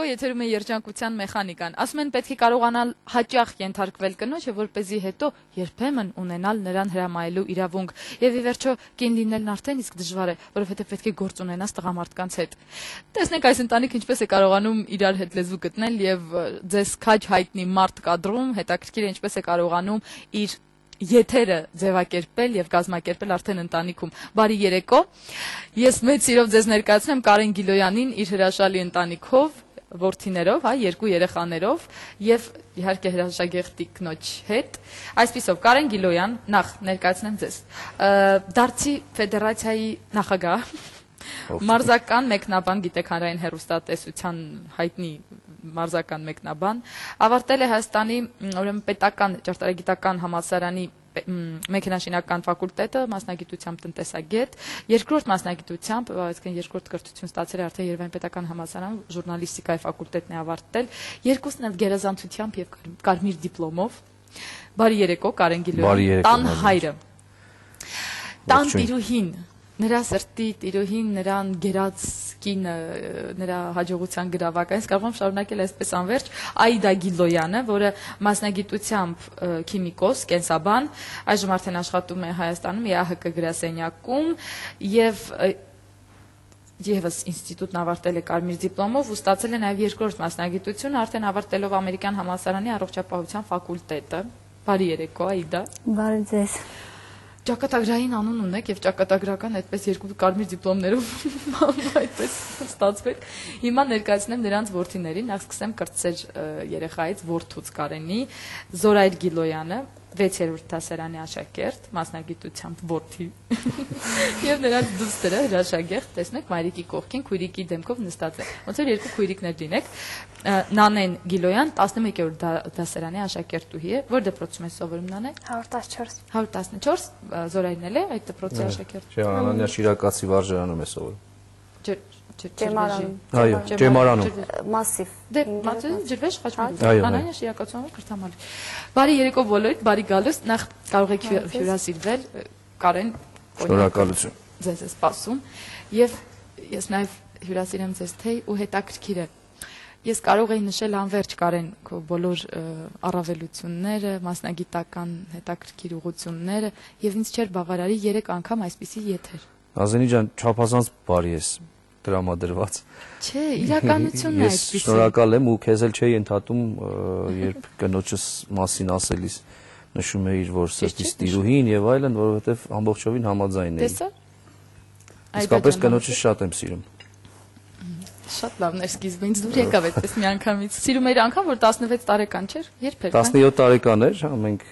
Երեկո եթերում է երջանկության մեխանիկան։ Ասում են պետք է կարողանալ հաճախ ենթարկվել կնոջը, որպեսզի հետո երբեմն ունենալ նրան հրամայելու իրավունք։ Եվ ի վերջո կին լինելն արդեն իսկ դժվար է, որովհետև պետք է գործ ունենաս տղամարդկանց հետ։ Տեսնենք այս ընտանիքը ինչպես է կարողանում իրար հետ լեզու գտնել եւ ձեզ քաջ հայտնի մարդ կադրում, հետաքրքիր է ինչպես է կարողանում իր եթերը ձևակերպել եւ կազմակերպել արդեն ընտանիքում։ Բարի երեկո։ Ես մեծ սիրով ձեզ ներկայացնեմ Կարեն Գիլոյանին իր հրաշալի ընտանիքով, որդիներով, երկու երեխաներով եւ իհարկե հրաշագեղտի կնոջ հետ։ Այսպիսով Կարեն Գիլոյան, նախ ներկայացնեմ ձեզ։ Դարձի ֆեդերացիայի նախագահ, մարզական մեկնաբան, գիտեքանրային հեռուստատեսության հայտնի մարզական մեկնաբան, ավարտել է Հայաստանի ուրեմն պետական ճարտարագիտական համալսարանի մեքենաշինական ֆակուլտետը, մասնագիտությամբ տնտեսագետ, երկրորդ մասնագիտությամբ, այսինքն երկրորդ կրթություն ստացել է արդեն Երևանի պետական համալսարանում, ժուրնալիստիկայի ֆակուլտետն է ավարտել, երկուսն էլ գերազանցությամբ եւ կարմիր դիպլոմով։ Բարի երեկո, Կարեն Գիլոյան, տան հայրը, տան տիրուհին, նրա սրտի տիրուհին, նրան գերած կինը, նրա հաջողության գրավակը, ես կարող եմ շարունակել այսպես անվերջ, Այդա Գիլոյանը, որը մասնագիտությամբ քիմիկոս, կենսաբան, այժմ արդեն աշխատում է Հայաստանում ԵԱՀԿ գրասենյակում եւ Եվս ինստիտուտն ավարտել է կարմիր դիպլոմով ու ստացել է նաև երկրորդ մասնագիտություն, արդեն ավարտելով Ամերիկյան համալսարանի առողջապահության ֆակուլտետը։ Բարի երեկո, Այդա։ Բարի ձեզ։ Ճակատագրային անուն ունեք եւ ճակատագրական այդպես երկու կարմիր դիպլոմներով այդպես ստացվեք։ Հիմա ներկայացնեմ նրանց որդիներին, նախ սկսեմ կրտսեր երեխայից որդուց Կարենի, Զորայր Գիլոյանը, 6-րդ դասարանի աշակերտ, մասնագիտությամբ որդի։ Եվ նրանց դուստրը հրաշագեղտ, տեսնեք, մայրիկի կողքին քույրիկի դեմքով նստած է։ Ոնց որ երկու քույրիկներ լինեք։ Նանեն Գիլոյան 11-րդ դասարանի աշակերտուհի է, որ դպրոցում է սովորում Նանեն։ 114։ 114, Զորայրն էլ է այդ դպրոցի աշակերտ։ Չէ, Անանյա Շիրակացի վարժարանում է սովորում։ Ջեմարանում։ Այո, Ջեմարանում։ Մասիվ։ Դե, ջրվեժ խաչմերուկ։ Անանյա Շիրակացու քրթամալի։ Բարի երեկո բոլորիդ, բարի գալուս, նախ կարող եք հյուրասիրվել, Կարեն, շնորհակալություն։ Ձեզ է սպասում եւ ես նաեւ հյուրասիրեմ ձեզ թեյ ու հետաքրքիր է։ Ես կարող էի նշել անverջ Կարեն քո բոլոր առավելությունները, մասնագիտական հետաքրքիր ուղղությունները եւ ինձ չէր բավարարի 3 անգամ այսպիսի եթեր։ Ազենի ջան, չափազանց բարի ես դրամադրված։ Չէ, իրականությունն է այսպիսի։ Ես շնորհակալ եմ ու քեզ էլ չէի ընդհատում, երբ կնոջս մասին ասելիս նշում էիր, որ սրտից տիրուհին եւ այլն, որովհետեւ ամբողջովին համաձայն էի։ Տեսա։ Իսկապես կնոջս շատ եմ սիրում։ Շատ լավն էր սկիզբը, ինձ դուր եկավ այդպես միանգամից։ Սիրում էր անգամ, որ 16 տարեկան չէր, երբ էր։ 17 տարեկան էր, մենք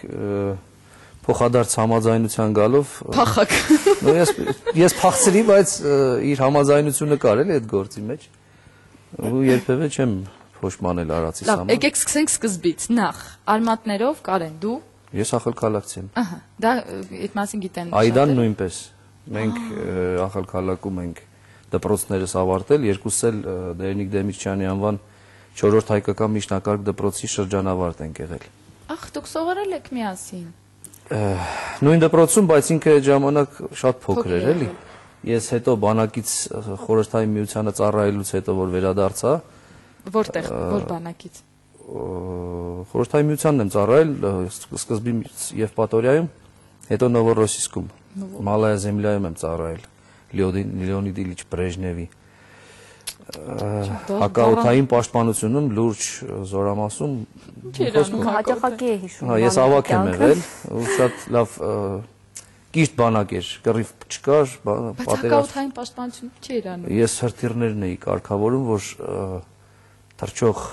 փոխադարձ համաձայնության գալով փախակ։ Ես փախցրի, բայց իր համաձայնությունը կար էլի այդ գործի մեջ։ Ու երբևէ չեմ փոշմանել արածիս համար։ Լավ, եկեք սկսենք սկզբից։ Նախ, արմատներով Կարեն, դու։ Ես Ախալքալակցի եմ։ Ահա, դա այդ մասին գիտեն։ Այդան նույնպես։ Մենք Ախալքալակում ենք դպրոցներս ավարտել, երկուսս էլ Դերնիկ Դեմիրճյանի անվան 4-րդ հայկական միջնակարգ դպրոցի շրջանավարտ ենք եղել։ Ախ, դուք սովորել եք միասին։ Նույն դպրոցում, բայց ինքը այդ ժամանակ շատ փոքր էր, էլի։ Ես հետո բանակից խորհրդային միությանը ծառայելուց հետո որ վերադարձա։ Որտեղ, որ բանակից։ Խորհրդային միությանն եմ ծառայել սկզբից Եվպատորիայում, հետո Նովորոսիսկում, Մալայա Զեմլայում եմ ծառայել, Լեոնիդ Իլիչ Բրեժնևի։ Հակաօդային պաշտպանությունում լուրջ զորամասում հաճախակի է հիշում։ Ես ավակ եմ եղել, ու շատ լավ կիրթ բանակ էր, կռիվ չկար, Բայց հակաօդային պաշտպանություն չէր անում։ Ես հրթիռներն էի կարգավորում, որ թռչող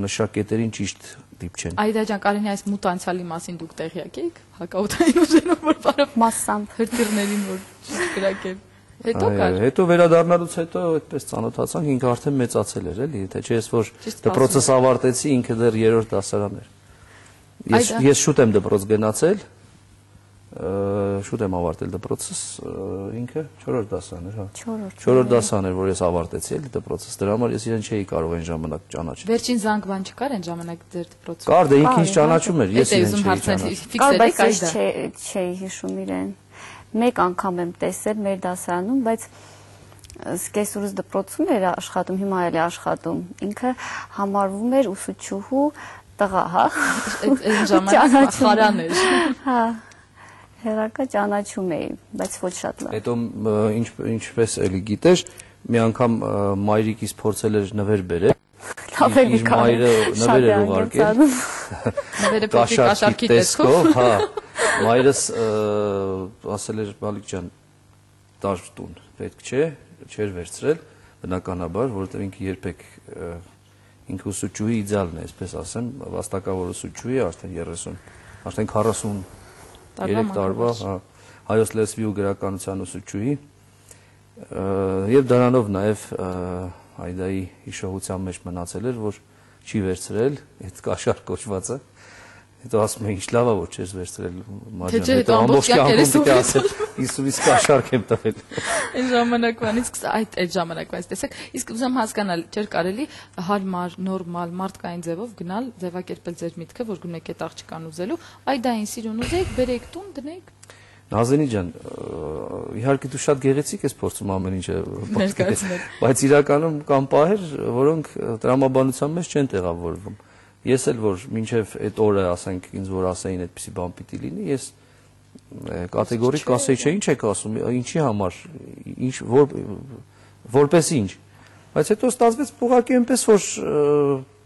նշակետերին ճիշտ դիպչեն։ Այդա ջան, Կարենի այս մութ անցյալի մասին դուք տեղյակ եք, հակաօդային ուժերով որ բարով Մասամբ հրթիռներին որ չկրակել։ Հետո կար։ Հետո վերադառնալուց հետո այդպես ծանոթացանք, ինքը արդեն մեծացել էր, էլի, թե չէ ես որ դպրոցս ավարտեցի, ինքը դեռ 3-րդ դասարան էր։ Ես շուտ եմ դպրոց գնացել, շուտ եմ ավարտել դպրոցս, ինքը 4-րդ դասարան էր, հա։ 4-րդ դասարան էր, որ ես ավարտեցի էլի դպրոցս, դրա համար ես իրեն չէի կարող այն ժամանակ ճանաչել։ Վերջին զանգման չկար այն ժամանակ ձեր դպրոցում։ Կար, դե ինքը ինձ ճանաչում էր, ես իրեն չէի ճանաչում։ կար, բայց ես չէի հիշում իրեն։ Մեկ անգամ եմ տեսել մեր դասարանում, բայց սկեսուրս դպրոցում էր աշխատում, հիմա էլ է աշխատում։ Ինքը համարվում էր ուսուցչուհու տղա, հա։ Այդ ժամանակ խարան էր։ Հա։ Հերակը ճանաչում էի, բայց ոչ շատ լավ։ Հետո ինչպես էլի գիտես, մի անգամ մայրիկիս փորձել էր նվեր բերել։ Իր մայրը նվեր էր ուղարկել։ Նվերը պետք է կաշառքի տեսքով, հա։ Մայրս ասել էր Բալիկ ջան, դար տուն, պետք չէ, չէր վերցրել, բնականաբար, որովհետև ինքը երբեք ինքը ուսուցչուհի իդեալն է, այսպես ասեմ, վաստակավոր ուսուցչուհի, արդեն 43 տարվա, հայոց լեզվի ու գրականության ուսուցչուհի, եւ դրանով նաեւ Այդայի հիշողության մեջ մնացել էր, որ չի վերցրել այդ կաշառ կոչվածը։ Հետո ասում է, ինչ լավ է, որ չես վերցրել մաջան։ Հետո ամբողջ կյանքում պիտի ասել, իսուվից կաշառք եմ տվել։ Այն ժամանակվանից այդ ժամանակվանից տեսեք, իսկ ուզում հասկանալ, չէր կարելի հարմար, նորմալ, մարդկային ձևով գնալ, ձևակերպել ձեր միտքը, որ գնեք այդ աղջկան ուզելու, Այդային սիրուն ուզեիք, բերեք տուն, դնեք։ Նազենի ջան, իհարկե դու շատ գեղեցիկ ես փորձում ամեն ինչը պատկերել, բայց իրականում կան պահեր, որոնք տրամաբանության մեջ չեն տեղավորվում։ Ես էլ որ մինչև այդ օրը, ասենք, ինձ որ ասեին այդպիսի բան պիտի լինի, ես կատեգորիկ ասեի, չէ, ինչ եք ասում, ինչի համար, ինչ որպես ինչ։ Բայց հետո ստացվեց ուղղակի այնպես, որ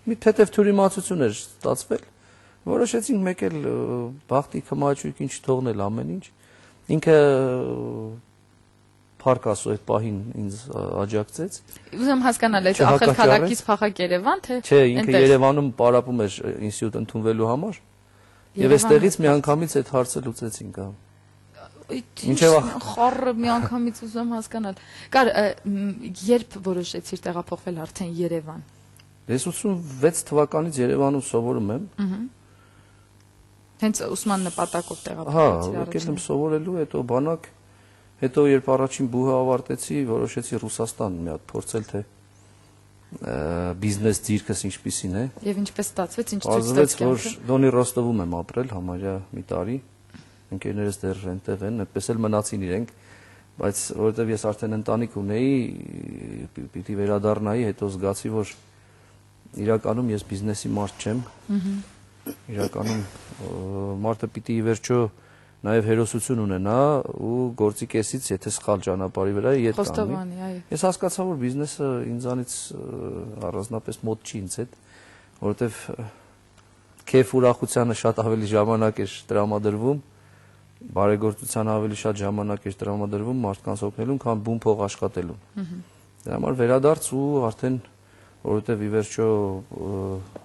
մի թեթև թյուրիմացություն էր ստացվել, որոշեցինք մեկ էլ բախտի քմաճույքին չթողնել ամեն ինչ։ Ինքը Փառք Աստծո այդ պահին ինձ աջակցեց։ Ուզում հասկանալ, այդ ախր քաղաքից փախակ Երևան, թե չէ, ինքը Երևանում պարապում էր ինստիտուտ ընդունվելու համար։ Եվ այստեղից միանգամից այդ հարցը լուծեցինք, հա։ Ինչեւ խառը միանգամից ուզում հասկանալ։ Կար երբ որոշեցիր տեղափոխվել արդեն Երևան։ Ես 86 թվականից Երևանում սովորում եմ։ Հենց ուսման նպատակով տեղափոխվեցի առաջին։ Հա, եկել եմ սովորելու, հետո բանակ, հետո երբ առաջին բուհը ավարտեցի, որոշեցի Ռուսաստան մի հատ փորձել, թե բիզնես դիրքս ինչպիսին է։ Եվ ինչպես ստացվեց, ինչ ցույց տվեց, որ Դոնի Ռոստովում եմ ապրել համարյա մի տարի, ընկերներս դեռ այնտեղ են, այդպես էլ մնացին իրենք, բայց որովհետև ես արդեն ընտանիք ունեի, պիտի վերադառնայի, հետո զգացի, որ իրականում ես բիզնեսի մարդ չեմ։ Իրականում մարդը պիտի ի վերջո նաև հերոսություն ունենա ու գործի կեսից, եթե սխալ ճանապարհի վրա է ետ կանգնի։ Ես հասկացա, որ բիզնեսը ինձանից առանձնապես մոտ չի ինձ հետ, որովհետև քեֆ ուրախությանը շատ ավելի ժամանակ է տրամադրվում, բարեգործության ավելի շատ ժամանակ է տրամադրվում մարդկանց օգնելուն, քան բուն փող աշխատելուն։ Դրա համար վերադարձ ու արդեն որովհետև ի վերջո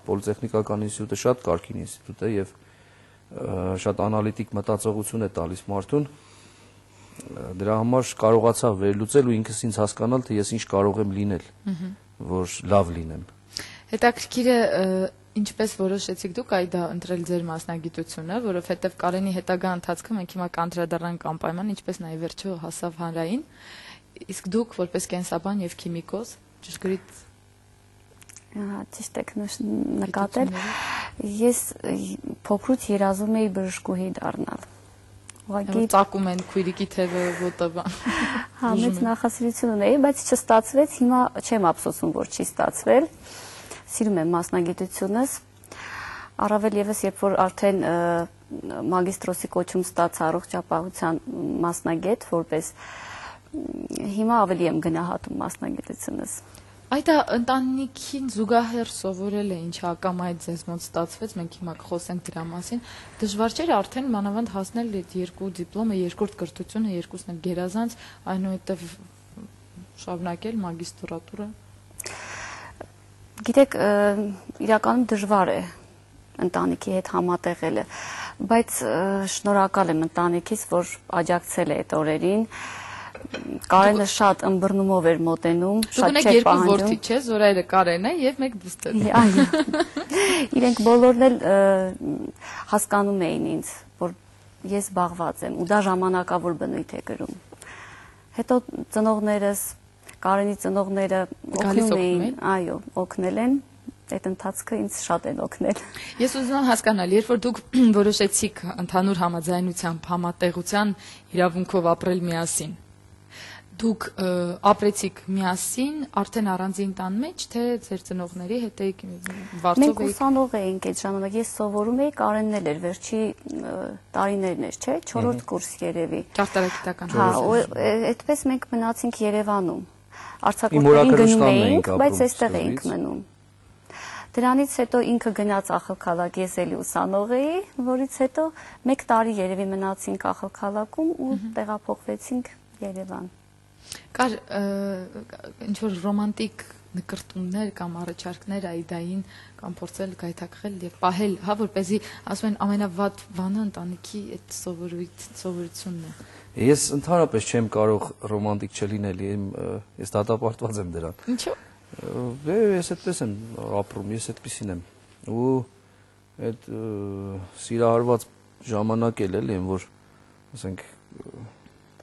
պոլիտեխնիկական ինստիտուտը շատ կարգին ինստիտուտ է եւ շատ անալիտիկ մտածողություն է տալիս մարդուն, դրա համար կարողացա վերլուծել ու ինքս ինձ հասկանալ, թե ես ինչ կարող եմ լինել, որ լավ լինեմ։ Հետաքրքիր է ինչպես որոշեցիք դուք այդ ընտրել ձեր մասնագիտությունը, որովհետև Կարենի հետագա ընթացքում մենք հիմա կանդրադառնանք անպայման, ինչպես նաև վերջո հասավ հանրային, իսկ դուք որպես կենսաբան եւ քիմիկոս ճշգրիտ ճիշտ եք նկատել, ես փոքրուց երազում էի բժշկուհի դառնալ։ Ուղղակի ծակում են քույրիկի թևը ոտը։ Հա, մեծ նախասիրություն ունեի, բայց չստացվեց, հիմա չեմ ափսոսում, որ չի ստացվել։ Սիրում եմ մասնագիտությունս, առավել եւս երբ որ արդեն մագիստրոսի կոչում ստացա առողջապահության մասնագետ, որպես հիմա ավելի եմ գնահատում մասնագիտությունս։ Այդ ընտանիքին զուգահեռ սովորել է, ինչ ակամայից ձեզ մոտ ստացվեց, մենք հիմա կխոսենք դրա մասին։ Դժվար չէր արդեն մանավանդ հասնել այդ երկու դիպլոմը, երկրորդ կրթությունը, երկուսն էլ գերազանց, այնուհետև շարունակել մագիստրատուրը։ Գիտեք, իրականում դժվար է ընտանիքի հետ համատեղելը, բայց շնորհակալ եմ ընտանիքից, որ աջակցել է այդ օրերին։ Կարենը շատ ըմբռնումով էր մոտենում, շատ չէր պահանջում։ Դուք ունեք երկու որդի, չէ՞, Զորայրը Կարենը եւ մեկ դուստր։ Այո։ Իրենք բոլորն էլ հասկանում էին ինձ, որ ես զբաղված եմ ու դա ժամանակավոր բնույթ է կրում։ Հետո ծնողներս, Կարենի ծնողները օգնում էին, այո, օգնել են, այդ ընթացքը ինձ շատ են օգնել։ Ես ուզում եմ հասկանալ, երբ որ դուք որոշեցիք ընդհանուր համաձայնությամբ, համատեղության իրավունքով ապրել միասին, Դուք ապրեցիք միասին, արդեն առանձին տան մեջ, թե ձեր ծնողների հետ եք վարձով Մենք ուսանող էինք այդ ժամանակ, ես սովորում էի, Կարենն էլ էր, վերջի տարիներն էր, չէ, 4-րդ կուրս երևի։ Ճարտարագիտական։ Հա, այդպես մենք մնացինք Երևանում։ Արձակուրդներին գնում էինք, բայց այստեղ էինք մնում։ Դրանից հետո ինքը գնաց Ախալքալակ, ես էլի ուսանող էի, որից հետո 1 տարի երևի մնացինք Ախալքալակում ու տեղափոխվեցինք Երևան։ Կար ինչ որ ռոմանտիկ նկրտումներ կամ առաջարկներ Այդային կամ փորձել գայթակղել եւ պահել, հա, որպեսզի ասում են ամենավատ բանը ընտանիքի այդ սովորությունն է։ Ես ընդհանրապես չեմ կարող ռոմանտիկ չլինել, ես դատապարտված եմ դրան։ Ինչո՞։ Ես այդպես եմ ապրում, ես այդպեսին եմ։ Ու այդ սիրահարված ժամանակ էլ եմ, որ ասենք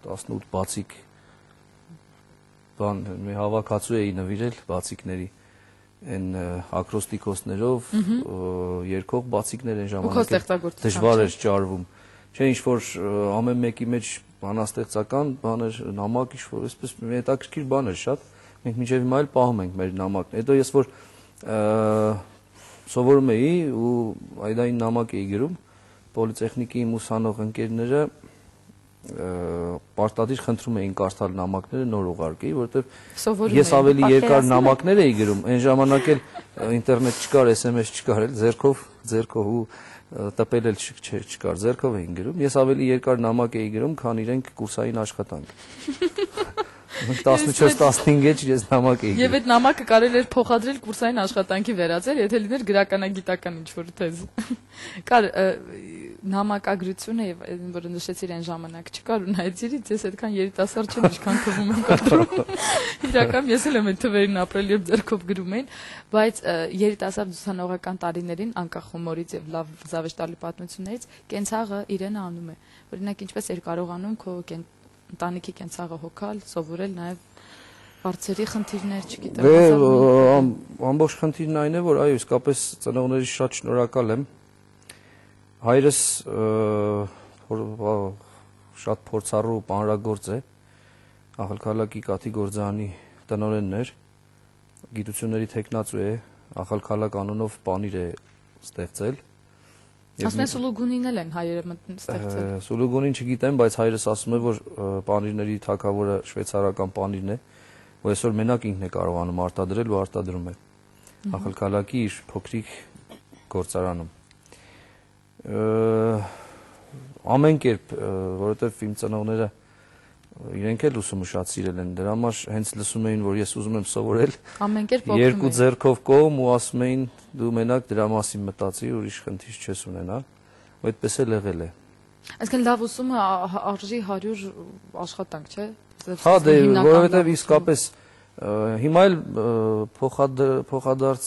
18 բացիկ բան մի հավաքածու էի նվիրել բացիկների այն ակրոստիկոսներով երկող բացիկներ են ժամանակ դժվար էր ճարվում։ Չէ, ինչ որ ամեն մեկի մեջ բանաստեղծական բաներ, նամակ ինչ որ այսպես մի հետաքրքիր բան էր շատ։ Մենք մինչև հիմա էլ պահում ենք մեր նամակն։ Հետո ես որ սովորում էի ու Այդային նամակ էի գրում, պոլիտեխնիկի իմ ուսանող ընկերները պարտադիր խնդրում էին կարդալ նամակները նոր ուղարկեի, որովհետև ես ավելի երկար նամակներ էի գրում, այն ժամանակ էլ ինտերնետ չկար, SMS չկար, էլ ձեռքով ու տպել էլ չկար, ձեռքով էին գրում։ Ես ավելի երկար նամակ էի գրում, քան իրենք կուրսային աշխատանք։ 14-15 էջ ես նամակ էի գրում։ Եվ այդ նամակը կարելի էր փոխադրել կուրսային աշխատանքի վերածել, եթե լիներ գրականագիտական ինչ-որ թեզ։ Կար նամակագրությունը եւ որը նշեցիր այն ժամանակ չկար ու նայեցիրից ես այդքան երիտասարդ չեմ, ինչքան թվում եմ կադրում։ Իրական ես էլ եմ այդ թվերին ապրել, երբ ձեռքով գրում էին, բայց երիտասարդ ուսանողական տարիներին անկախ հումորից եւ լավ զավեշտալի պատմություններից կենցաղը իրեն անում է։ Օրինակ ինչպես էր կարողանում քո ընտանիքի կենցաղը հոգալ, սովորել նաև բարձերի խնդիրներ, չգիտեմ։ Ամբողջ խնդիրն այն է, որ այո, իսկապես ծնողների շատ շնորհակալ եմ։ Հայրս շատ փորձառու պանրագործ է, Ախալքալակի Կաթի գործարանի տնօրենն էր, գիտությունների թեկնածու է, Ախալքալակ անունով պանիր է ստեղծել։ Ասում են Սուլուգունին էլ են հայերը ստեղծել։ Սուլուգունին չգիտեմ, բայց հայրս ասում է, որ պանիրների թագավորը շվեյցարական պանիրն է, որ այսօր մենակ ինքն է կարողանում արտադրել ու արտադրում է Ախալքալակի իր փոքրիկ գործարանում։ Ամեն կերպ, որովհետև իմ ծնողները իրենք էլ ուսումը շատ սիրել են, դրա համար հենց լսում էին, որ ես ուզում եմ սովորել, երկու ձեռքով կողմ ու ասում էին դու մենակ դրա մասին մտածի, ուրիշ խնդիր չես ունենա, ու այդպես էլ եղել է։ Այսինքն լավ ուսումը արժի 100 աշխատանք, չէ՞։ Հա, դե, որովհետև իսկապես հիմա էլ փոխադարձ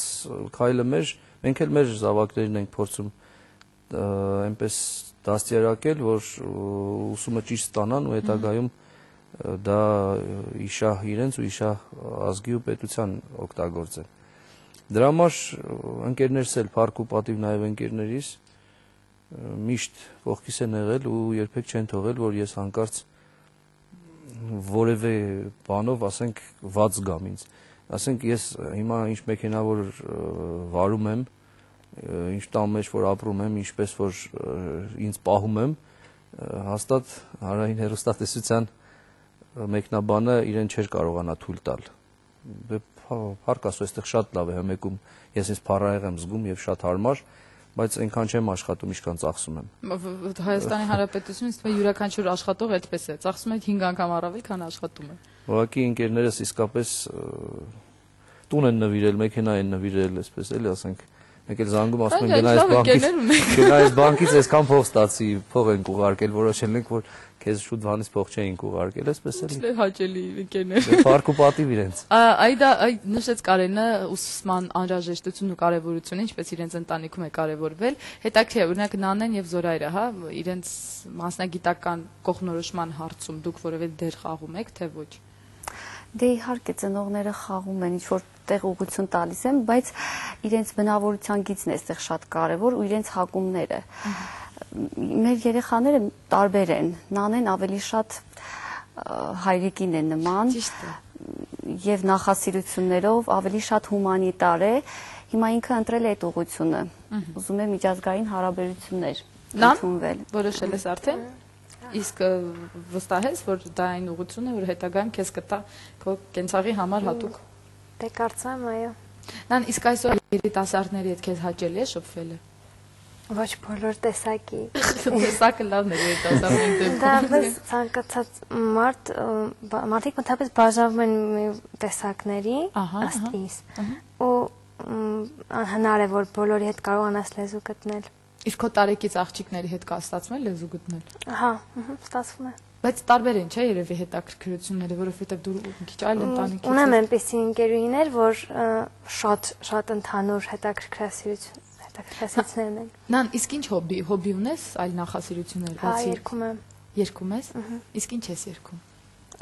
քայլը մենք էլ մեր զավակներին ենք փորձում այնպես դաստիարակել, որ ուսումը ճիշտ ստանան ու հետագայում դա իշահ իրենց ու իշահ ազգի ու պետության օգտագործեն։ Դրա համար ընկերներս էլ փառք ու պատիվ նաև ընկերներիս միշտ կողքիս են եղել ու երբեք չեն թողել, որ ես հանկարծ որևէ բանով, ասենք, վատ զգամ ինձ։ Ասենք ես հիմա ինչ մեքենա որ վարում եմ, ինչ տան մեջ որ ապրում եմ, ինչպես որ ինձ պահում եմ, հաստատ հանրային հեռուստատեսության մեկնաբանը իրեն չէր կարողանա թույլ տալ։ Փառք Աստծո, այստեղ շատ լավ է հմեկում, ես ինձ փառահեղ եմ զգում եւ շատ հարմար, բայց այնքան չեմ աշխատում, ինչքան ծախսում եմ։ Հայաստանի Հանրապետությունից յուրաքանչյուր աշխատող այդպես է, ծախսում է 5 անգամ առավել, քան աշխատում է։ Ուղղակի ընկերներս իսկապես տուն են նվիրել, մեքենա են նվիրել, այսպես էլի ասենք։ Մեկ էլ զանգում ասում են գնայես բանկից այսքան փող ստացի, փող ենք ուղարկել, որոշել ենք, որ քեզ շուտ վանից փող չէինք ուղարկել, այսպես էլի։ Հաճելի ընկերներ։ Փառք ու պատիվ իրենց։ Այդա նշեց Կարենը ուսման անհրաժեշտությունն ու կարևորությունը, ինչպես իրենց ընտանիքում է կարևորվել։ Հետաքրքիր է, օրինակ Նանեն եւ Զորայրը, հա, իրենց մասնագիտական կողմնորոշման հարցում դուք որևէ դեր խաղում եք, թե ոչ։ Դե իհարկե ծնողները խաղում են, ինչ որ տեղ ուղղություն տալիս են, բայց իրենց բնավորության գիծն է այստեղ շատ կարևոր ու իրենց հակումները։ Մեր երեխաները տարբեր են, Նանեն ավելի շատ հայրիկին է նման եւ նախասիրություններով ավելի շատ հումանիտար է։ Հիմա ինքը ընտրել է այդ ուղղությունը։ Ուզում է միջազգային հարաբերություններ ընդունվել։ Որոշել ես արդեն։ Իսկ վստահ ես, որ դա այն ուղղությունն է, որ հետագայում քեզ կտա քո կենցաղի համար հատուկ։ Դե կարծեմ, այո։ Նան իսկ այսօր երիտասարդների հետ քեզ հաճելի է շփվելը։ Ոչ բոլոր տեսակի։ Տեսակը լավն է երիտասարդների դեպքում։ Դա պես ցանկացած մարդիկ մտածես բաժանվում են տեսակների, ըստ իս։ Ու անհնար է որ բոլորի հետ կարողանաս լեզու գտնել։ Իսկ քո տարեկից աղջիկների հետ կա ստացվում է լեզու գտնել։ Հա, ստացվում է։ Բայց տարբեր են, չէ՞, երևի հետաքրքրությունները, որովհետև դու մի քիչ այլ ընտանիքից ես։ Ունեմ այնպիսի ընկերուհիներ, որ շատ ընդհանուր հետաքրքրություններն են։ Նան, իսկ ինչ հոբի ունես, այլ նախասիրություններ բացի։ Հա, երգում եմ։ Երգում ես։ Իսկ ինչ ես երգում։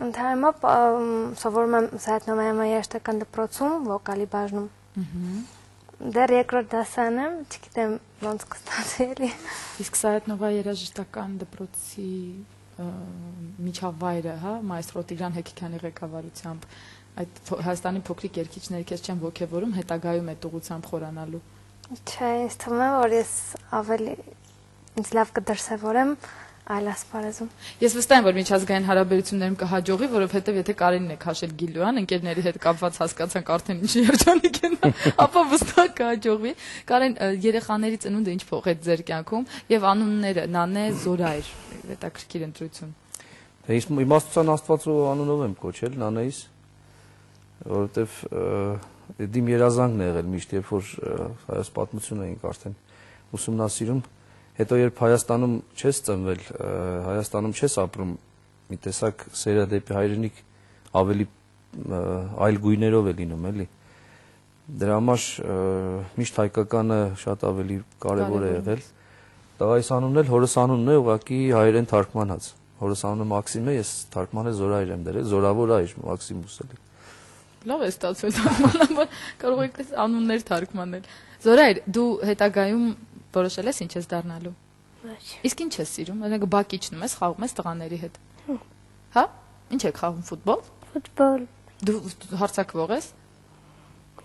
Ընդհանրապես սովորում եմ Սայաթ-Նովայանի երաժշտական դպրոցում վոկալի բաժնում։ Դեռ երկրորդ դասան եմ, չգիտեմ ոնց կստացվի էլի։ Իսկ Սայաթ-Նովայի երաժշտական դպրոցի միջավայրը, հա, մայստրո Տիգրան Հեկիքյանի ղեկավարությամբ այդ Հայաստանի փոքրիկ երգիչների քեզ չեն ոգևորում հետագայում այդ ուղղությամբ խորանալու։ Չէ, ինձ թվում է, որ ես ավելի ինձ լավ կդրսևորեմ այլ ասպարեզում։ Ես վստահ եմ, որ միջազգային հարաբերություններում կհաջողի, որովհետև եթե Կարենին է քաշել Գիլյուան, ընկերների հետ կապված հասկացանք արդեն ինչ երջանիկ են, ապա վստահ կհաջողվի։ Կարեն, երեխաների ծնունդը ինչ փոխեց ձեր կյանքում եւ անունները՝ Նանե, Զորայր, հետաքրքիր ընտրություն։ Դե ես իմաստության Աստվածու անունով եմ կոչել Նանեիս, որովհետև իմ երազանքն է եղել միշտ, երբ որ հայոց պատմությունը էինք արդեն ուսումնասիրում, հետո երբ Հայաստանում չես ծնվել, Հայաստանում չես ապրում, մի տեսակ սերը դեպի հայրենիք ավելի այլ գույներով է լինում, էլի։ Դրա համար միշտ հայկականը շատ ավելի կարևոր է եղել։ Տղայիս անունն էլ հորս անունն է, ուղղակի հայերեն թարգմանած։ Հորս անունը Մաքսիմ է, ես թարգմանել Զորայր եմ դրել, Զորավոր այր Մաքսիմուս էլի։ Լավ է ստացվել թարգմանաբար, կարող եք անուններ թարգմանել։ Զորայր, դու հետագայում որոշել ես ինչ ես դառնալու։ Ոչ։ Իսկ ինչ ես սիրում։ Օրինակ բակ իջնում ես, խաղում ես տղաների հետ։ Հա? Ինչ եք խաղում ֆուտբոլ։ Ֆուտբոլ։ Դու հարձակվող ես։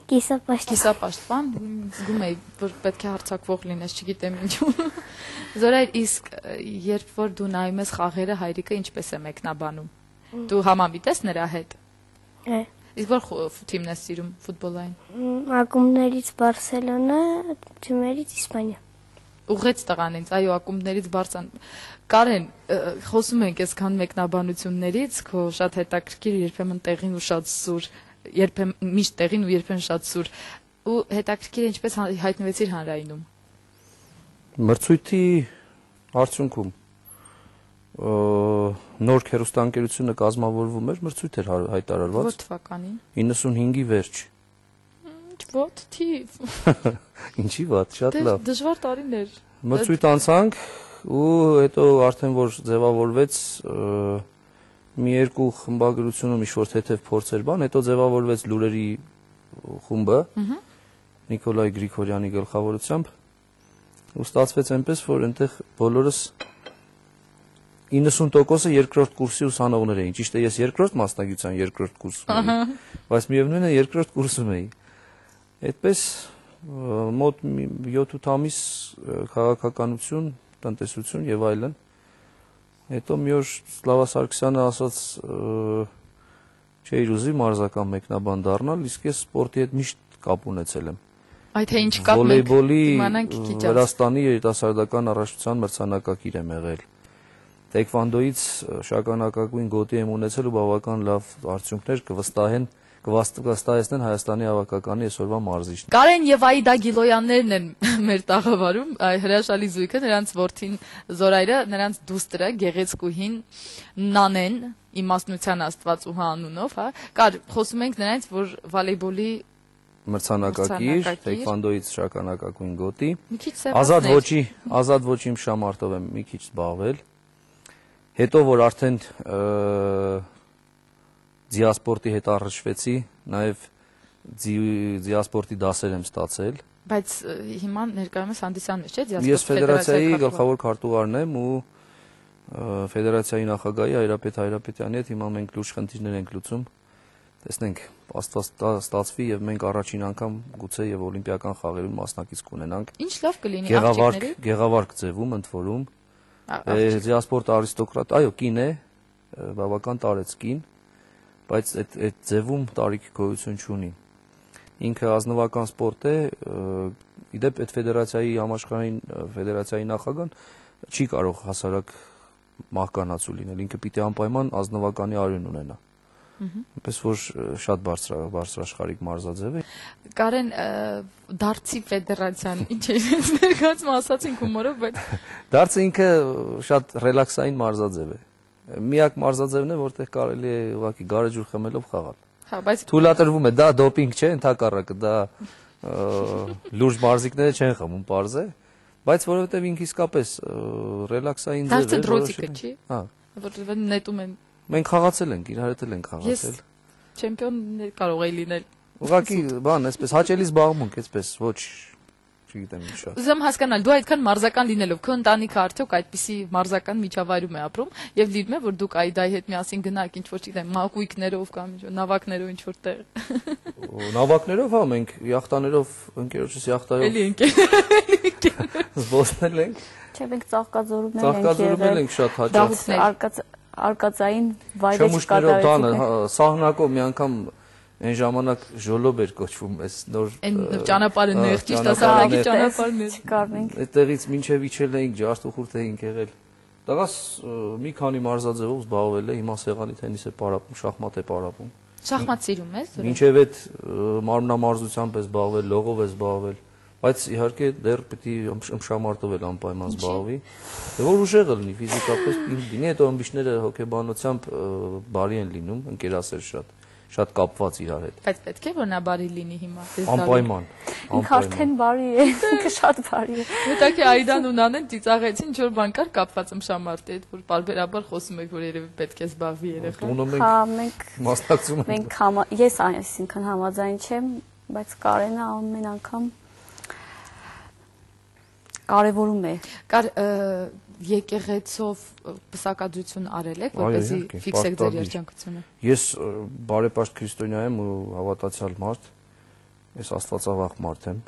Կիսապաշտ։ Կիսապաշտպան, զգում էի, որ պետք է հարձակվող լինես, չգիտեմ ինչու։ Զորայր, իսկ երբ որ դու նայում ես խաղերը, հայրիկը ինչպես է մեկնաբանում։ Դու համամիտ ես նրա հետ։ Է։ Իսկ որ թիմն ես սիրում ֆուտբոլային։ Ակումբներից Բարսելոնա, թիմերից Իսպանիա։ Ուղղեց տղան ինձ, այո, ակումբներից Բարսան։ Կարեն, խոսում ենք այսքան մեկնաբանություններից, քո շատ հետաքրքիր, երբեմն տեղին ու շատ սուր, երբեմն միշտ տեղին ու երբեմն շատ սուր։ Ու հետաքրքիր ինչպես հայտնվեցիր հանրայինում։ Մրցույթի արդյունքում նոր հեռուստաընկերությունը կազմավորվում էր, մրցույթ էր հայտարարված։ Ո՞ր թվականին։ 95-ի վերջ։ Ո՞տ թիվ։ Ինչի՞ վատ, շատ լավ։ Դժվար տարիներ։ Մրցույթ անցանք ու հետո արդեն որ ձևավորվեց մի երկու խմբագրությունում ինչ-որ թեթև փորձեր բան, հետո ձևավորվեց լուրերի խումբը Նիկոլայ Գրիգորյանի գլխավորությամբ ու ստացվեց այնպես, որ այնտեղ բոլորս 90%-ը երկրորդ կուրսի ուսանողներ էին։ Ճիշտ է, ես երկրորդ մասնագիտության երկրորդ կուրսում էի, բայց միևնույն է երկրորդ կուրսում էի։ Այդպես մոտ 7-8 ամիս քաղաքականություն, տնտեսություն եւ այլն։ Հետո մի օր Սլավա Սարգսյանը ասաց չէի ուզի մարզական մեկնաբան դառնալ, իսկ ես սպորտի հետ միշտ կապ ունեցել եմ։ Այդ թե ինչ կապ մենք վոլեյբոլի իմանանք քիչ։ Վրաստանի երիտասարդական առաջնության մրցանակակիր եմ եղել։ Տեքվանդոյից շագանակագույն գոտի եմ ունեցել ու բավական լավ արդյունքներ կվստահեցնեն Հայաստանի հավաքականի այսօրվա մարզիչներին։ Կարեն եւ Աիդա Գիլոյաններն են մեր տաղավարում, հրաշալի զույգը, նրանց որդին Զորայրը, նրանց դուստրը գեղեցկուհին Նանեն, իմաստնության Աստվածուհա անունով, հա։ Կար խոսում ենք նրանց, որ վոլեյբոլի մրցանակակիր, տեքվանդոյից շագանակագույն գոտի։ Մի քիչ սեփական։ Ազատ ոչի շամարտով եմ մի քիչ զբաղվել։ Հետո որ արդեն ձիասպորտի հետ առնչվեցի, նաև ձիասպորտի դասեր եմ ստացել։ Բայց հիմա ներկայումս հանդիսանում ես, չէ՞, ձիասպորտի Ես ֆեդերացիայի գլխավոր քարտուղարն եմ ու Ֆեդերացիայի նախագահի Հայրապետ Հայրապետյանի հետ հիմա մենք լուրջ խնդիրներ ենք լուծում։ Տեսնենք, Աստված ստացվի եւ մենք առաջին անգամ գուցե եւ օլիմպիական խաղերում մասնակից կունենանք։ Ինչ լավ կլինի աղջիկների։ Գեղավարք ձևում ընդ որում։ Զիասպորտ արիստոկրատ, այո, կին է, բավական տարեց կին, բայց այդ ձևում տարիքի գոյություն չունի։ Ինքը ազնվական սպորտ է, իդեպ այդ ֆեդերացիայի համաշխարհային ֆեդերացիայի նախագահան չի կարող հասարակ մահկանացու լինել, ինքը պիտի անպայման ազնվականի արյուն ունենա։ Այնպես որ շատ բարձրաշխարհիկ մարզաձև է։ Կարեն, դարձի ֆեդերացիան ինչ է ներկայացնում, ասացինք հումորով, բայց դարձը ինքը շատ ռելաքսային մարզաձև է։ Միակ մարզաձևն է, որտեղ կարելի է ուղղակի գարեջուր խմելով խաղալ։ Հա, բայց թույլատրվում է, դա դոպինգ չէ, ընդհակառակը, դա լուրջ մարզիկները չեն խմում, պարզ է, բայց որովհետև ինքը իսկապես ռելաքսային ձև է։ Դարձը դրոցիկը չի։ Հա, որովհետև նետում են։ Մենք խաղացել ենք, իրար հետ ենք խաղացել։ Ես չեմպիոն կարող էի լինել։ Ուղղակի բան, այսպես հաճելի զբաղմունք, այսպես ոչ, չգիտեմ ինչ շատ։ Ուզում հասկանալ, դու այդքան մարզական լինելով, քո ընտանիքը արդյոք այդպիսի մարզական միջավայրում է ապրում, եւ լիրում է, որ դուք Այդայի հետ միասին գնաք, ինչ որ չգիտեմ, մակույկներով կամ ինչ որ նավակներով ինչ որտեղ։ Նավակներով, հա, մենք յախտաներով, ընկերոջս յախտայով։ Էլի ընկեր։ Զբոսնել ենք։ Չէ, մենք ծաղկաձորումներ ենք Ծաղկաձորումներ ենք շատ հաճախ։ Արկածային վայրեր չկատարեցինք։ Սահնակով մի անգամ այն ժամանակ ժոլոբ էր կոչվում, այս նոր այն ճանապարհը նեղ, ճիշտ ասած, ճանապարհն է։ չկարնենք։ Այդտեղից մինչև իջել էինք, ջարդուխուրդ էինք եղել։ Տղաս մի քանի մարզաձևով զբաղվել է, հիմա սեղանի թենիս է պարապում, շախմատ է պարապում։ Շախմատ սիրում ես։ Մինչև այդ մարմնամարզությամբ է զբաղվել, լողով է զբաղվել, բայց իհարկե դեռ պիտի ըմբշամարտով էլ անպայման զբաղվի։ Որ ուժեղ լինի ֆիզիկապես, լինի այդ ըմբիշները հոգեբանությամբ բարի են լինում, ընկերասեր շատ կապված իրար հետ։ Բայց պետք է որ նա բարի լինի հիմա։ Անպայման։ Ինքը արդեն բարի է, ինքը շատ բարի է։ Հետաքի Այդան ու Նանեն ծիծաղեցին, ինչ որ բան կար կապված ըմբշամարտի հետ, որ բարբերաբար խոսում եք, որ երևի պետք է զբաղվի երեխան։ Հա, մենք մասնակցում ենք։ Մենք ես այսինքն համաձայն չեմ, բայց Կարենը ամեն անգամ կարևորում է։ Եկեղեցով պսակադրություն արել եք, որպեսզի ֆիքսեք ձեր երջանկությունը։ Ես բարեպաշտ քրիստոնյա եմ ու հավատացյալ մարդ, ես աստվածավախ մարդ եմ։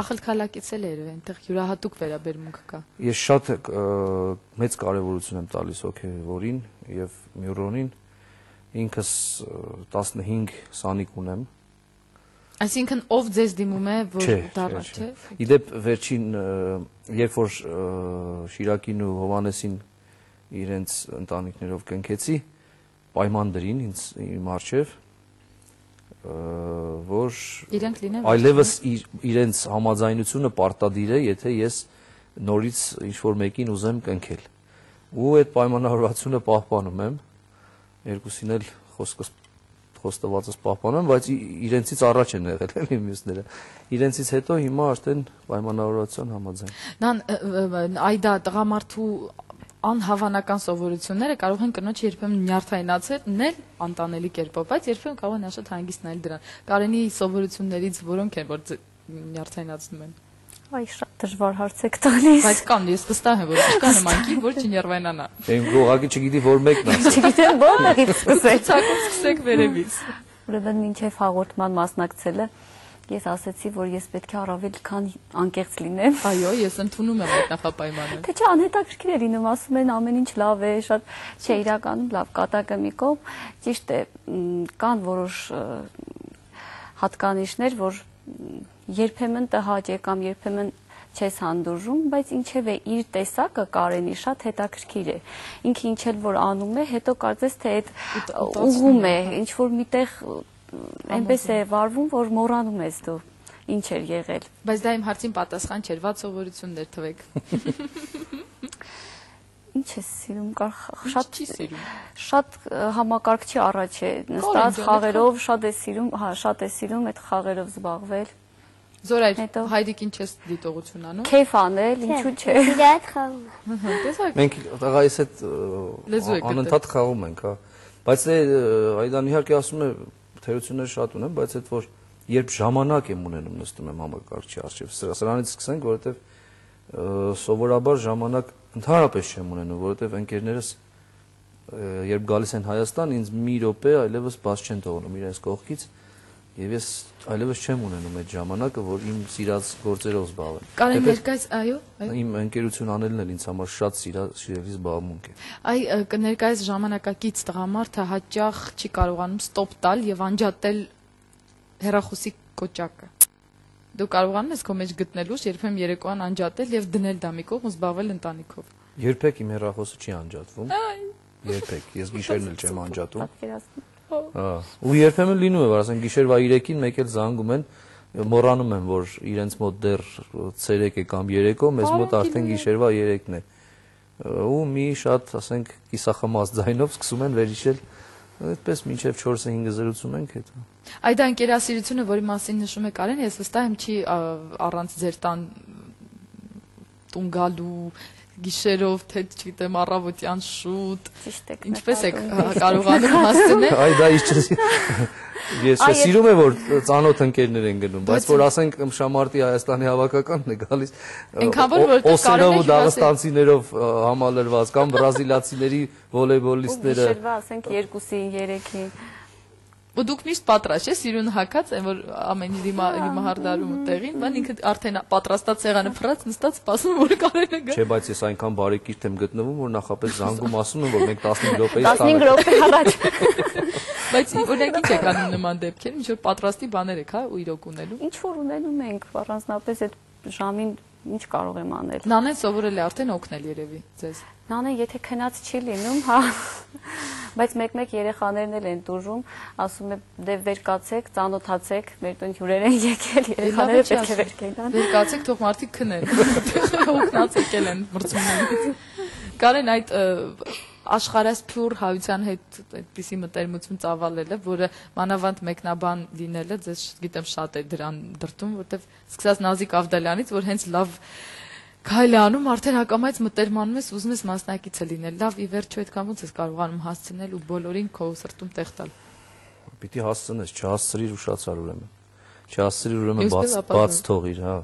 Ախալքալակից էլ էր, այնտեղ յուրահատուկ վերաբերմունք կա։ Ես շատ մեծ կարևորություն եմ տալիս հոգևորին եւ Մյուրոնին, ինքս 15 սանիկ ունեմ։ Այսինքն ով ձեզ դիմում է, որ դառնա, չէ՞։ Իդեպ վերջին երբ որ Շիրակին ու Հովանեսին իրենց ընտանիքներով կնքեցի, պայման դրին ինձ իմ առջև, որ այլևս իրենց համաձայնությունը պարտադիր է, եթե ես նորից ինչ-որ մեկին ուզեմ կնքել։ Ու այդ պայմանավորվածությունը պահպանում եմ, երկուսին էլ խոստվածս պահպանում, բայց իրենցից առաջ են եղել էլի մյուսները։ Իրենցից հետո հիմա արդեն պայմանավորվածության համաձայն։ Նան Այդա տղամարդու անհավանական սովորությունները կարող են կնոջ երբեմն նյարդայնացնել անտանելի կերպով, բայց երբեմն կարող են շատ հանգիստ նայել դրան։ Կարենի սովորություններից որոնք են, որ նյարդայնացնում են։ Այ շատ դժվար հարց եք տալիս։ Բայց կան, ես վստահ եմ, որ կա նմանքի, որ չնյարդայնանա։ Եմ գողակի չգիտի որ մեկն ասա։ Չգիտեմ որից սկսեք։ Ցակով սկսեք վերևից։ Ուրեմն մինչև հաղորդման մասնակցելը ես ասացի, որ ես պետք է առավել քան անկեղծ լինեմ։ Այո, ես ընդունում եմ այդ նախապայմանը։ Թե չէ անհետաքրքիր է լինում, ասում են ամեն ինչ լավ է, շատ չէ իրականում լավ կատակը մի կողմ, ճիշտ է, կան որոշ հատկանիշներ, որ երբեմն տհաճ է կամ երբեմն չես հանդուրժում, բայց ինչևէ իր տեսակը Կարենի շատ հետաքրքիր է։ Ինքը ինչ էլ որ անում է, հետո կարծես թե այդ ուղում է, ինչ որ միտեղ այնպես է վարվում, որ մոռանում ես դու ինչ էր եղել։ Բայց դա իմ հարցին պատասխան չէր, ված սովորություններ թվեք։ Ինչ ես սիրում, շատ չի սիրում։ Շատ համակարգչի առաջ է նստած խաղերով, շատ է սիրում, հա, շատ է սիրում այդ խաղերով զբաղվել։ Զորայր, հայրիկին չես դիտողություն անում։ Քեֆ անել, ինչու՞ չէ։ Իրար խաղում։ Տեսակ։ Մենք տղայիս հետ անընդհատ խաղում ենք, հա։ Բայց Այդան իհարկե ասում է թերություններ շատ ունեմ, բայց այդ որ երբ ժամանակ եմ ունենում նստում եմ համակարգչի առջև, սրանից սկսենք, որովհետև սովորաբար ժամանակ Ընդհանրապես չեմ ունենում, որովհետև ընկերներս երբ գալիս են Հայաստան, ինձ մի րոպե այլևս բաց չեն թողնում իրենց կողքից, եւ ես այլևս չեմ ունենում այդ ժամանակը, որ իմ սիրած գործերով զբաղվեմ։ Կարեն ներկայիս, այո, իմ ընկերություն անելն էլ ինձ համար շատ սիրելի զբաղմունք է։ Ներկայիս ժամանակակից տղամարդը հաճախ չի կարողանում ստոպ տալ եւ անջատել հեռախոսի կոճակը։ Դու կարողանում ես քո մեջ գտնելուց երբեմն երեկոյան անջատել եւ դնել դա մի կողմ ու զբաղվել ընտանիքով։ Երբեք իմ հեռախոսը չի անջատվում։ Երբեք, ես գիշերն էլ չեմ անջատում։ Ու երբեմն լինում է, որ ասենք գիշերվա 3-ին մեկ էլ զանգում են, մոռանում են, որ իրենց մոտ դեռ ցերեկ է կամ երեկո, մեզ մոտ արդեն գիշերվա 3-ն է։ Ու մի շատ, ասենք, կիսախմած ձայնով սկսում են վերհիշել, այդպես մինչև 4-5 զրուցում ենք հետո։ Այդ ընկերասիրությունը, որի մասին նշում է Կարեն, ես վստահ եմ չի առանց ձեր տուն գալու գիշերով, թե չգիտեմ, առավոտյան շուտ։ Ինչպես եք կարողանում հասցնել։ Այ դա ես սիրում եմ, որ ծանոթ ընկերներ են գնում, բայց որ ասենք Շամարտի Հայաստանի հավաքականն է գալիս օսերով ու դաղստանցիներով համալրված կամ բրազիլացիների վոլեյբոլիստները։ Գիշերվա ասենք 2-ին, 3-ին։ Ու դուք միշտ պատրաստ եք, սիրուն հակած են, որ ամեն դիմահարդարում ու տեղին, բան ինքը արդեն պատրաստած սեղանը փռած նստած սպասում որ Կարենը գա։ Չէ, բայց ես այնքան բարեկիրթ եմ գտնվում, որ նախապես զանգում ասում եմ, որ մենք 15 րոպեից 15 րոպե առաջ։ Բայց օրինակ ինչ եք անում նման դեպքերում, ինչ որ պատրաստի բաներ եք, հա, ու իրոք ունելու։ Ինչ որ ունենում ենք, առանձնապես այդ ժամին ինչ կարող եմ անել։ Նանեն սովորել է արդեն օգնել երևի ձեզ։ Նանեն եթե քնած չի լինում, հա, բայց մեկ-մեկ երեխաներն էլ են տուժում, ասում է դե վեր կացեք, ծանոթացեք, մեր տուն հյուրեր են եկել, երեխաները պետք է վեր կենան։ Վեր կացեք, թող մարդիկ քնեն։ Օգնած եկել են մրցումներից։ Կարեն այդ աշխարհասփյուր հայության հետ այդպիսի մտերմություն ծավալելը, որը մանավանդ մեկնաբան լինելը, ձեզ գիտեմ շատ է դրան դրտում, որտեվ սկսած Նազիկ Ավդալյանից, որ հենց լավ քայլ է անում, արդեն հակամայից մտերմանում ես, ուզում ես մասնակիցը լինել։ Լավ, ի վերջո այդքան ոնց ես կարողանում հասցնել ու բոլորին քո սրտում տեղ տալ։ Պիտի հասցնես, չհասցրիր ուշացար ուրեմն։ Չհասցրիր ուրեմն բաց թողիր, հա։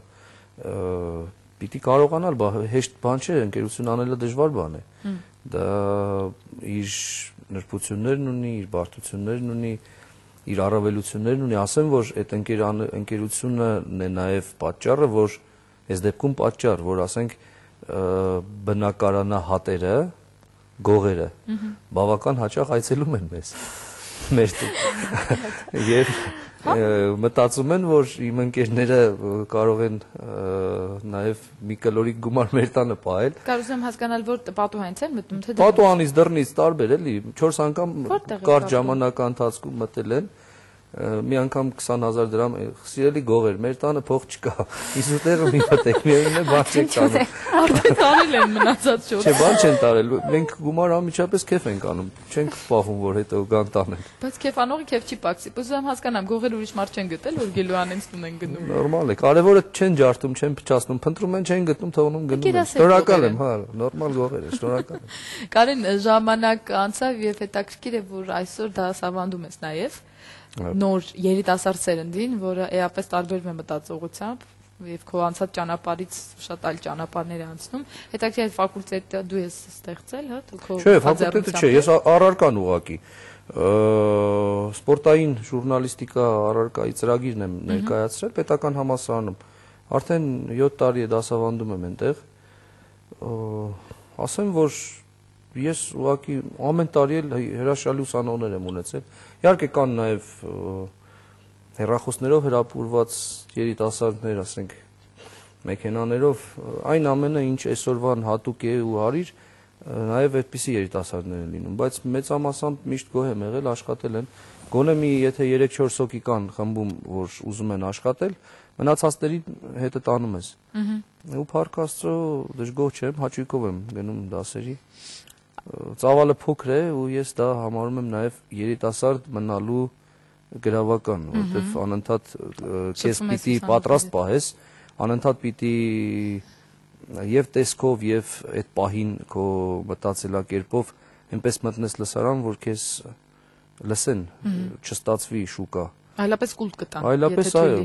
Պիտի կարողանալ, հեշտ բան չէ, ընկերություն անելը դժվար բան է։ Դա իր նրբություններն ունի, իր բարդություններն ունի, իր առավելություններն ունի, ասեմ, որ այդ ընկերությունն է նաև պատճառը, որ այս դեպքում պատճառ, որ ասենք բնակարանահատերը, գողերը բավական հաճախ այցելում են մեզ, մեր տուն, եւ մտածում են, որ իմ ընկերները կարող են նաև մի կլորիկ գումար մեր տանը պահել։ Կարող եմ հասկանալ, որ պատուհանից են մտնում, թե պատուհանից դռնից տարբեր էլի, 4 անգամ կարճ ժամանակա ընթացքում մտել են, մի անգամ 20,000 դրամ, սիրելի գողեր, մեր տանը փող չկա, իսուտերը մի մտեք, միևնույն է բան չեք տանում։ Արդեն տարել են մնացած շուտ։ Չէ, բան չեն տարել, մենք գումար անմիջապես քեֆ ենք անում, չենք պահում, որ հետո գան տանեն։ Բայց քեֆանողը քեֆ չի պակսի, ուզում եմ հասկանամ, գողեր ուրիշ մարդ չեն գտել, որ գելուանենց տուն են գնում։ Նորմալ է, կարևորը չեն ջարդում, չեն փչացնում, փնտրում են, չեն գտնում, թողնում գնում են։ Շնորհակալ եմ, հա, նորմալ գողեր է, շնորհակալ եմ։ Կարեն, ժամանակ անցավ եւ հետաքրքիր է, որ այսօր դասավանդում ես նաեւ նոր երիտասարդ սերնդին, որը էապես տարբերվում է մտածողությամբ եւ քո անցած ճանապարհից շատ այլ ճանապարհներ է անցնում։ Հետաքրքիր է ֆակուլտետը դու ես ստեղծել, հա, դու քո Չէ, ֆակուլտետը չէ, ես առարկան ուղակի սպորտային ժուրնալիստիկա առարկայի ծրագիրն եմ ներկայացրել պետական համալսարանում։ Արդեն 7 տարի է դասավանդում եմ այնտեղ։ Ասեմ, որ ես ուղղակի ամեն տարի էլ հրաշալի ուսանողներ եմ ունեցել։ Իհարկե կան նաև հեռախոսներով հրապուրված երիտասարդներ, ասենք, մեքենաներով, այն ամենը, ինչ այսօրվան հատուկ է ու հարիր, նաև այդպիսի երիտասարդներ են լինում, բայց մեծամասամբ միշտ գոհ եմ եղել, աշխատել են։ Գոնե մի եթե 3-4 հոգի կան խմբում, որ ուզում են աշխատել, մնացածների հետը տանում ես։ Ու փառք Աստծո, դժգոհ չեմ, հաճույքով եմ գնում դասերի։ Ծավալը փոքր է ու ես դա համարում եմ նաև երիտասարդ մնալու գրավական, որովհետև անընդհատ քեզ պիտի պատրաստ պահես, անընդհատ պիտի եւ տեսքով եւ այդ պահին քո մտածելակերպով այնպես մտնես լսարան, որ քեզ լսեն, չստացվի շուկա։ Այլապես կուլտ կտան, այլապես այո,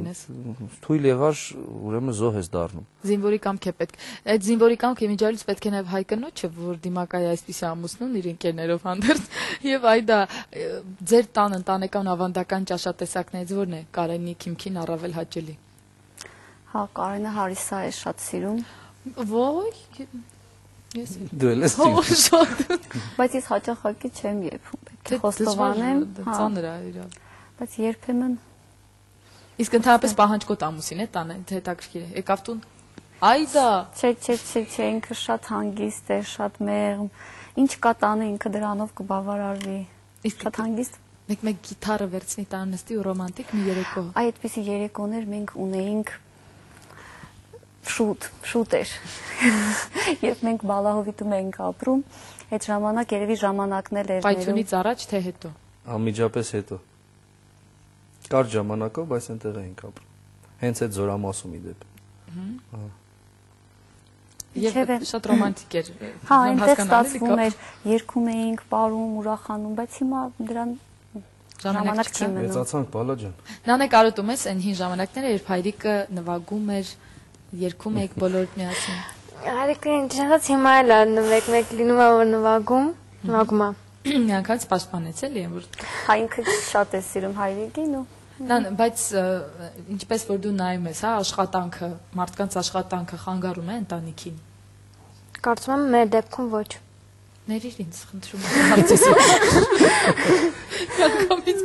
թույլ եղար, ուրեմն զոհ ես դառնում։ Զինվորի կամք է պետք։ Այդ զինվորի կամքը իմիջիալից պետք է նաև հայ կնոջը, որ դիմակայ այսպիսի ամուսնուն իր ընկերներով հանդերձ, եւ այդա ձեր տան ընտանեկան ավանդական ճաշատեսակներից որն է Կարենի քիմքին առավել հաճելի։ Հա, Կարենը հարիսա է շատ սիրում։ Ոյ, ես Դու ես շատ։ Բայց ես հաճախակի չեմ երբում, պետք է խոստովանեմ, ծանր է իրավ։ բայց երբեմն Իսկ ընդհանրապես պահանջկոտ ամուսին է տանը, հետաքրքիր է։ Եկավ տուն։ Այդա։ Չէ, ինքը շատ հանգիստ է, շատ մեղմ։ Ինչ կա տանը ինքը դրանով կբավարարվի։ Շատ հանգիստ։ Մեկ գիտարը վերցնի տանը նստի ու ռոմանտիկ մի երեկո։ Այդպիսի երեկոներ մենք ունեինք շուտ էր։ Երբ մենք Բալահովիտում էինք ապրում, այդ ժամանակ երևի ժամանակն էլ էր ներում։ Պայթյունից առաջ թե հետո։ Անմիջապես հետո։ Կար ժամանակով, բայց այնտեղ էինք ապրում։ Հենց այդ Զորամասում ի դեպ։ Եվ շատ ռոմանտիկ էր։ Հա, այնտեղ ստացվում էր, երգում էինք, պարում, ուրախանում, բայց հիմա դրան ժամանակ չի մնում։ Մեծացանք, Բալա ջան։ Նանե կարոտում ես այն հին ժամանակները, երբ հայրիկը նվագում էր, երգում եք բոլորդ միասին։ Հայրիկը ինչպես հիմա էլ մեկ լինում է որ նվագում է։ Միանգամից պաշտպանեց էլի այն որ։ Հա, ինքը շատ է սիրում հայրիկին ու Բայց ինչպես որ դու նայում ես, հա, աշխատանքը, մարդկանց աշխատանքը խանգարում է ընտանիքին։ Կարծում եմ մեր դեպքում ոչ։ Ներիր ինձ, խնդրում եմ հարցես։ Կամից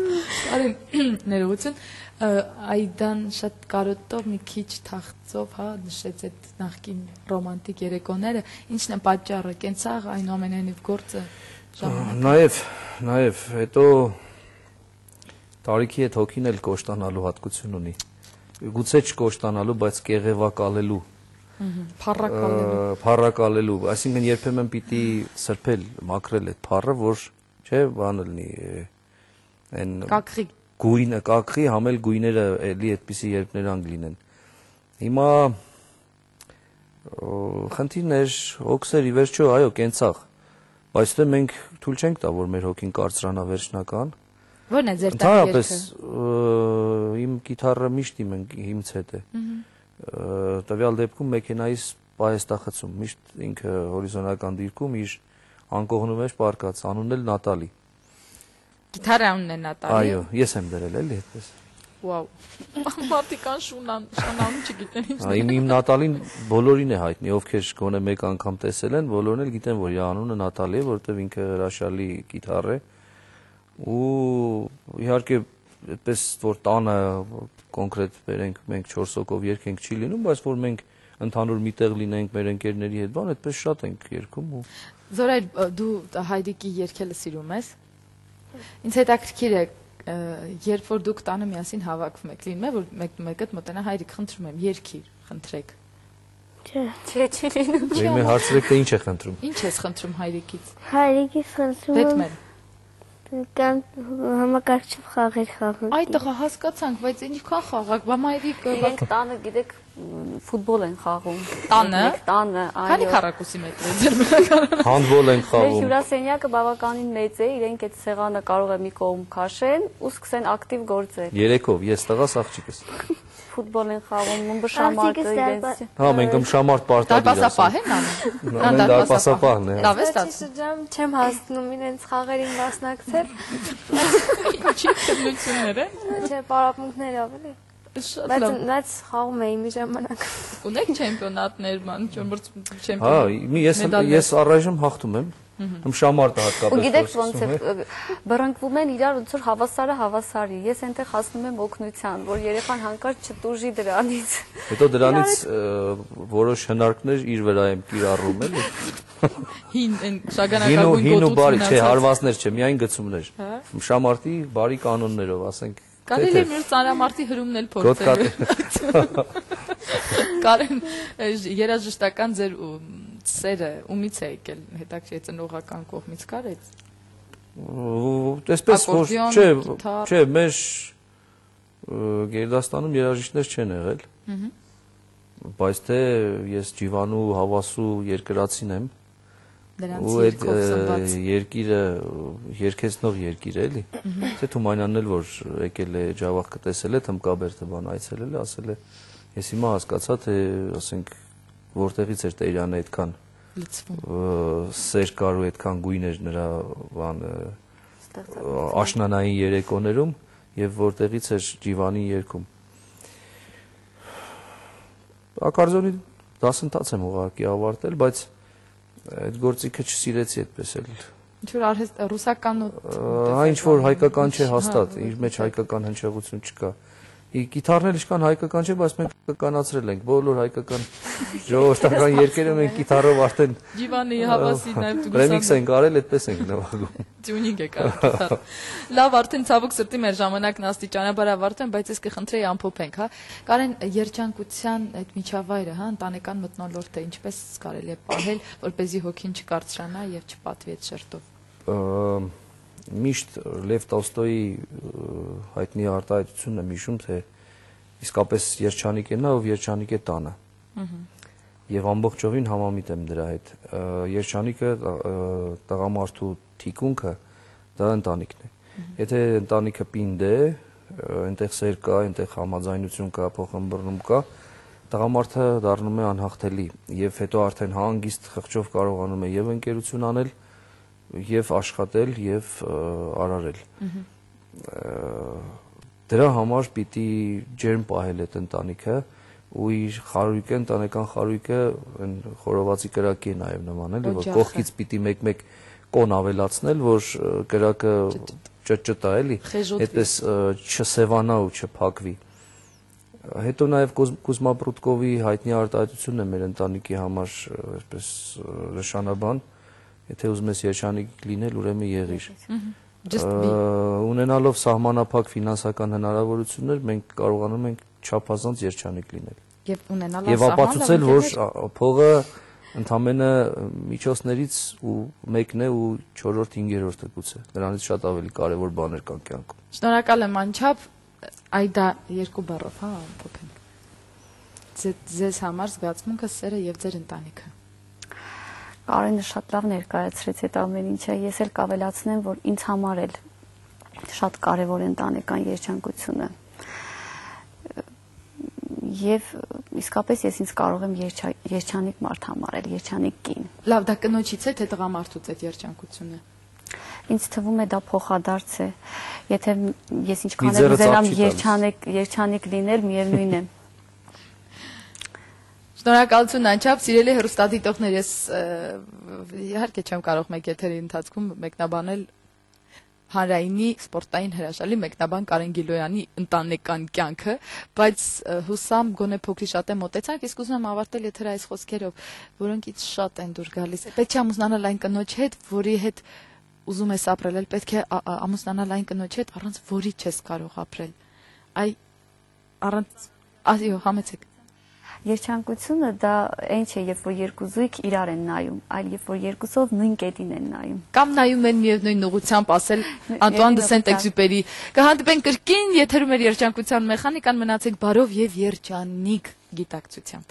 արին ներողություն, Այդան շատ կարոտով մի քիչ թախծով, հա, նշեց այդ նախկին ռոմանտիկ երեկոները, ինչն է պատճառը, կենցաղ այնուամենայնիվ գործը ժամանակ։ Նաև հետո տարիքի հետ հոգին էլ կոշտանալու հատկություն ունի։ Գուցե չկոշտանալու, բայց կեղևակալելու, փառակալելու, այսինքն երբեմն պիտի սրբել, մաքրել այդ փառը, որ չէ, բանը լինի, այն կակղի գույնը կակղի, համել գույները էլի այդպիսի երբներ անգլինեն։ Հիմա խնդիրներ, հոգսեր ի վերջո, այո, կենցաղ, բայց դե մենք թույլ չենք տա, որ մեր հոգին կարծրանա վերջնական։ Ո՞րն է ձեր տան երգը։ Ընդհանրապես իմ գիտարը միշտ իմից հետ է։ Տվյալ դեպքում մեքենայից պահեստախցում, միշտ ինքը հորիզոնական դիրքում իր անկողնում էր պարկած, անունն էլ Նատալի։ Գիտարը անունն է Նատալի։ Այո, ես եմ դրել էլի այդպես։ Վաու։ Մարդիկան շանանում չգիտեն ինչ։ Իմ Նատալին բոլորին է հայտնի, ովքեր գոնե մեկ անգամ տեսել են, բոլորն էլ գիտեն, որ իր անունը Նատալի է, որովհետև ինքը հրաշալի գիտար է։ Ու իհարկե այդպես որ տանը կոնկրետ բերենք մենք 4 հոգով երգենք չի լինում, բայց որ մենք ընդհանուր միտեղ լինենք մեր ընկերների հետ, բան այդպես շատ ենք երգում ու Զորայր, դու հայրիկի երգելը սիրում ես։ Ինձ հետաքրքիր է, երբ որ դուք տանը միասին հավաքվում եք, լինում է որ մեկը մոտենա հայրիկ, խնդրում եմ, երգիր, խնդրեք։ Չի լինում։ Դե հարցրեք թե ինչ է խնդրում։ Ինչ ես խնդրում հայրիկից։ Հայրիկից խնդրում եմ Բեթմեն։ կամ համակարգչով խաղեր խաղում։ Այդ տղա հասկացանք, բայց ինչքան խաղակ, բա մայրիկը Իրենք տանը գիտեք ֆուտբոլ են խաղում։ Տանը։ Տանը, քանի այո։ քառակուսի մետր է ձեր բնակարանը։ Հանդբոլ ենք Մեր խաղում։ հյուրասենյակը բավականին մեծ է, իրենք այդ սեղանը կարող է մի կողմ քաշեն ու սկսեն ակտիվ գործել։ Երեքով, ես տղաս աղջիկս։ Ֆուտբոլ են խաղում, մշամարտը իրենց։ Հա, մենք մշամարտ պարտադիր Դարպասապահ են անում։ Նան դարպասապահն է։ Լավ է Ստացի ստացվում։ շրջան չեմ հասնում իրենց խաղերին մասնակցել։ Ինչի քննություններ է։ Չէ, պարապմունքներով էլի։ Շատ լավ։ Բայց խաղում էի մի ժամանակ։ Ունեք չեմպիոնատներ, ման, ճորմորց Հա, չեմպիոն։ ես առայժմ հաղթում եմ։ Մշամարտը հատկապես։ Ու գիտեք ոնց է բռնկվում են իրար ոնց որ հավասարը հավասարի։ Ես այնտեղ հասնում եմ օգնության, որ երեխան հանկարծ չտուժի դրանից։ Հետո դրանից որոշ հնարքներ իր վրա եմ կիրառում էլի։ Հին այն շագանակագույն Հին ու բարի, գոտություն չէ, հարվածներ չէ, միայն գծումներ։ Մշամարտի բարի կանոններով, ասենք։ Կարելի է մի ծանրամարտի հրումն էլ փորձել։ Կարեն երաժշտական ձեր սերը ումից է եկել, հետաքրքիր ծնողական կողմից կար այդ։ Այսպես որ չէ, մեր Գերդաստանում երաժիշտներ չեն եղել։ Բայց թե ես ջիվանու, հավասու երկրացին եմ, Նրանց երկով սնված երկիրը երկեցնող երկիր է, էլի։ Թե Թումանյանն էլ որ եկել է Ջավախքը տեսել է, Թմկաբերդը բան այցելել է, ասել է, ես հիմա հասկացա, թե ասենք որտեղից էր Տերյանը այդքան սեր կար ու այդքան գույն էր նրա բան աշնանային երեկոներում եւ որտեղից էր Ջիվանի երգում։ Ակարդեոնի դասընթաց եմ ուղղակի ավարտել, բայց այդ գործիքը չսիրեցի այդպես էլ։ Ինչ որ արհեստ ռուսական ինչ որ հայկական չէ հաստատ, իր մեջ հայկական հնչեղություն չկա։ Գիտարն էլ ինչքան հայկական չէ, բայց մենք հայկականացրել ենք, բոլոր հայկական ժողովրդական երգերը մենք գիտարով արդեն Ջիվանի հավասի նաև դու ռեմիքս ենք արել, այդպես ենք նվագում։ Տյունինգ է կարել գիտար։ Լավ, արդեն ցավոք սրտի մեր ժամանակն աստիճանաբար ավարտում, բայց ես կխնդրեի ամփոփենք, հա։ Կարեն երջանկության այդ միջավայրը, հա, ընտանեկան մթնոլորտը ինչպես կարելի է պահել, որպեսզի հոգին չկարծրանա եւ չպատվի այդ շերտով։ Միշտ Լև Տոլստոյի հայտնի արտահայտությունն եմ հիշում, թե իսկապես երջանիկ է նա, ով երջանիկ է տանը։ Եվ ամբողջովին համամիտ եմ դրա հետ։ Երջանիկը տղամարդու թիկունքը դա ընտանիքն է։ Եթե ընտանիքը պինդ է, այնտեղ սեր կա, այնտեղ համաձայնություն կա, փոխըմբռնում կա, տղամարդը դառնում է անհաղթելի եւ հետո արդեն հանգիստ խղճով կարողանում է եւ ընկերություն անել եւ աշխատել եւ արարել։ Դրա համար պիտի ջերմ պահել այդ ընտանիքը ու իր խարույկը, ընտանեկան խարույկը խորովածի կրակի է նաեւ նման, էլի, որ կողքից պիտի մեկ-մեկ կոն ավելացնել, որ կրակը ճճտա, էլի, այդպես չսևանա ու չփակվի։ Հետո նաեւ Կուզմա Պրուտկովի հայտնի արտահայտությունն է մեր ընտանիքի համար այսպես նշանաբան։ Եթե ուզում ես երջանիկ լինել, ուրեմն եղիր։ Ունենալով սահմանափակ ֆինանսական հնարավորություններ, մենք կարողանում ենք չափազանց երջանիկ լինել։ Եվ ապացուցել, որ փողը ընդամենը միջոցներից ու մեկն է ու 4-րդ, 5-րդը գուցե։ Դրանից շատ ավելի կարևոր բաներ կան կյանքում։ Շնորհակալ եմ անչափ, այդա երկու բառով, հա, ամփոփենք։ Ձեզ համար զգացմունքը, սերը եւ ձեր ընտանիքը։ Կարենը շատ լավ ներկայացրեց այդ ամեն ինչը, ես էլ կավելացնեմ, որ ինձ համար էլ շատ կարևոր է ընտանեկան երջանկությունը։ Եվ իսկապես ես ինձ կարող եմ երջանիկ մարդ համարել, երջանիկ կին։ Լավ, դա կնոջից է, թե տղամարդուց այդ երջանկությունը։ Ինձ թվում է դա փոխադարձ է։ Եթե ես ինչքան էլ ուզենամ երջանիկ լինել, միևնույն է։ Շնորհակալություն անչափ, սիրելի հեռուստադիտողներ, ես իհարկե չեմ կարող մեկ եթերի ընթացքում մեկնաբանել հանրայինի սպորտային հրաշալի մեկնաբան Կարեն Գիլոյանի ընտանեկան կյանքը, բայց հուսամ գոնե փոքրի շատ է մոտեցանք, իսկ ուզում եմ ավարտել եթերը այս խոսքերով, որոնք ինձ շատ են դուր գալիս։ Պետք է ամուսնանալ այն կնոջ հետ, որի հետ ուզում ես ապրել, պետք է ամուսնանալ այն կնոջ հետ, առանց որի չես կարող ապրել։ Այո, համեցեք։ Երջանկությունը դա այն չէ, երբ որ երկու զույգ իրար են նայում, այլ երբ որ երկուսով նույն կետին են նայում։ Կամ նայում են միևնույն ուղղությամբ, ասել Անտուան դե Սենտ-Էքզյուպերի։ Կհանդիպենք կրկին եթերում էր երջանկության մեխանիկան, մնացեք բարով եւ երջանիկ գիտակցությամբ։